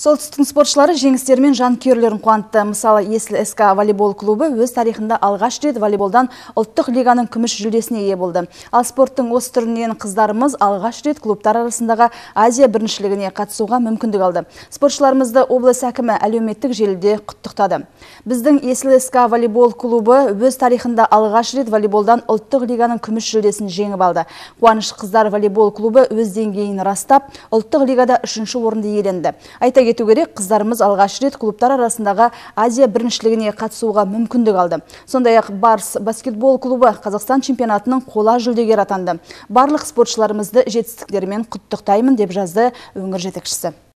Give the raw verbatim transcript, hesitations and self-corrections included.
Солтүстіктің спортшылары жеңістермен жанкүйерлерін қуантты. Мысалы, Есіл СК волейбол клубы өз тарихында алғаш рет волейболдан ұлттық лиганың күміс жүлдесіне ие болды. Ал спорттың осы түрінен қыздарымыз алғаш рет клубтар арасындағы Азия біріншілігіне қатысуға мүмкіндік алды. Спортшыларымызды облыс әкімі әлеуметтік желіде құттықтады. Біздің Есіл СК волейбол клубы өз тарихында алғаш рет волейболдан ұлттық лиганың күміс жүлдесін жеңіп алды. Қуаныш қыздар волейбол клубы өз деңгейін растап, ұлттық лигада үшінші орынды иеленді. Айта кету керек, қыздарымыз алғаш рет клубтар арасындағы Азия біріншілігіне қатысуға мүмкіндік алды. Сондай-ақ Барс баскетбол клубы Қазақстан чемпионатының қола жүлдегері атанды. Барлық спортшыларымызды жетістіктерімен құттықтаймын деп жазды өңір жетекшісі.